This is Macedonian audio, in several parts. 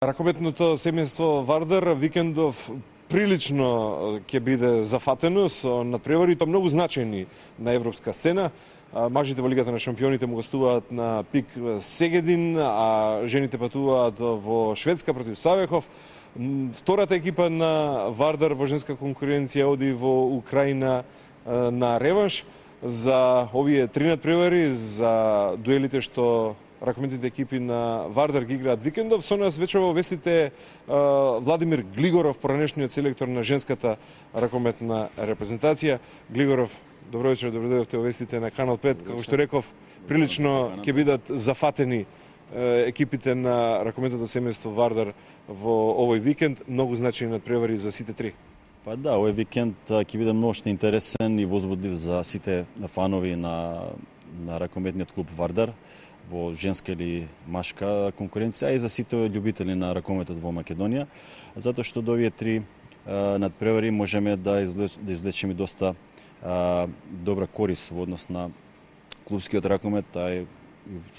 Ракометното семејство Вардар викендов прилично ќе биде зафатено со надпревари, тоа многу значајни на европска сцена. Мажите во Лигата на шампионите му гостуваат на ПИК Сегедин, а жените патуваат во Шведска против Савехов. Втората екипа на Вардар во женска конкуренција оди во Украина на реванш за овие три надпревари, за дуелите што ракометните екипи на Вардар ги играат викендов. Со нас вече во вестите Владимир Глигоров, поранешниот селектор на женската ракометна репрезентација. Глигоров, добро вечер, добро дојдовте во вестите на Канал 5. Како што реков, прилично ќе бидат зафатени екипите на ракометното семејство Вардар во овој викенд. Многу значајни надпревари за сите три. Па да, овој викенд ќе биде многу интересен и возбудлив за сите фанови на ракометниот клуб Вардар во женска или машка конкуренција, а и за сите љубители на ракометот во Македонија, затоа што до овие три надпревари можеме да извлечеме доста добра корис во однос на клубскиот ракомет, а и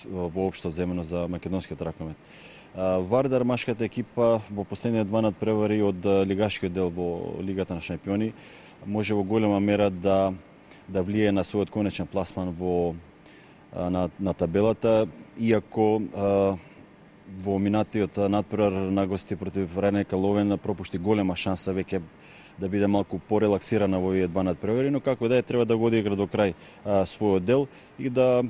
воопшто земено за македонскиот ракомет. Вардар, машката екипа, во последните два надпревари од лигашкиот дел во Лигата на шампиони, може во голема мера да влие на својот конечен пласман на табелата, иако во минатиот надпревар на гости против Ренека Ловен пропушти голема шанса веќе да биде малку порелаксирана во овие два надпревари, но како да е, треба да го одигра до крај својот дел и да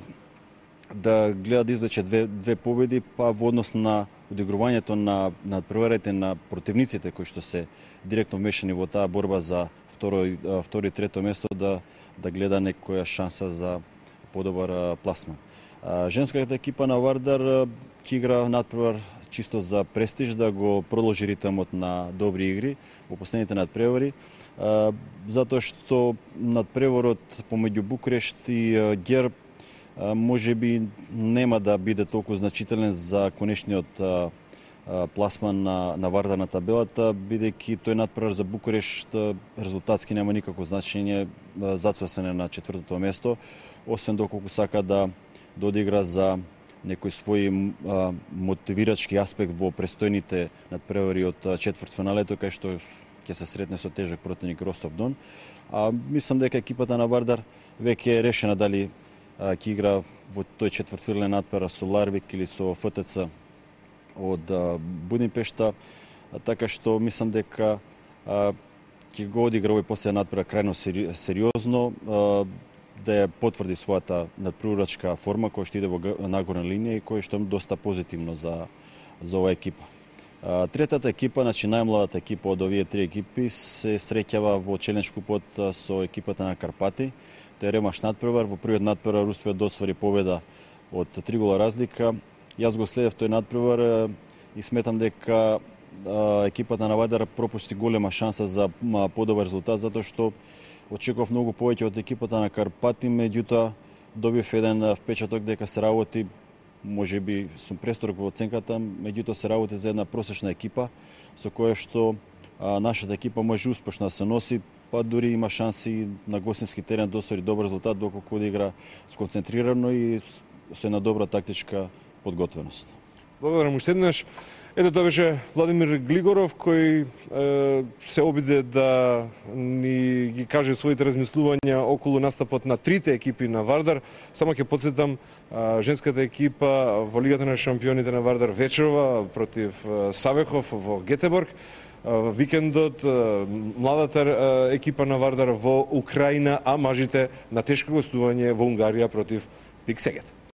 гледа да извлече две победи, па во однос на одигрувањето на надпреварите на противниците кои што се директно вмешани во таа борба за второ и трето место, да гледа некоја шанса за подобар пласман. Женската екипа на Вардар ќе игра надпревар чисто за престиж, да го продолжи ритмот на добри игри во последните надпревари, затоа што надпреварот помеѓу Букурешт и Герб можеби нема да биде толку значителен за конечниот пласман на Вардар на табелата, бидејќи тој надпревар за Букурешт резултатски нема никакво значење, зацврстен е на четвртото место, освен доколку сака да одигра за некој свој мотивирачки аспект во престојните надпревари од четвртфиналето, кај што ќе се сретне со тежок противник Ростов Дон. Мислам дека екипата на Вардар веќе е решена дали ќе игра во тој четвртфинален надпревар со Ларвик или со ФТЦ од Будимпешта, така што мислам дека ќе го одигра овој последен надпревар крајно сериозно, да ја потврди својата надпреварачка форма која што иде во нагорна линија и која што е доста позитивно за оваа екипа. Третата екипа, значи најмладата екипа од овие три екипи, се среќава во Челендж купот со екипата на Карпати. Тој е ремаш надпревар, во првиот надпревар успеа да освари победа од 3 гола разлика. Јас го следев тој надпревар и сметам дека екипата на Вардар пропусти голема шанса за подобар резултат, затоа што очекував многу повеќе од екипата на Карпати, меѓутоа добив еден впечаток дека се работи, можеби сум престрог во оценката, меѓутоа се работи за една просечна екипа со која што нашата екипа може успешно да се носи, па дури има шанси на гостински терен да оствари добар резултат доколку одигра сконцентрирано и со една добра тактичка подготвеност. Благодарам уште еднаш. Ето тоа беше Владимир Глигоров, кој се обиде да ни ги каже своите размислувања околу настапот на трите екипи на Вардар. Само ќе подсетам, женската екипа во Лигата на шампионите на Вардар вечерва против Савехов во Гетеборг. Викендот младата екипа на Вардар во Украина, а мажите на тешко гостување во Унгарија против ПИК Сегед.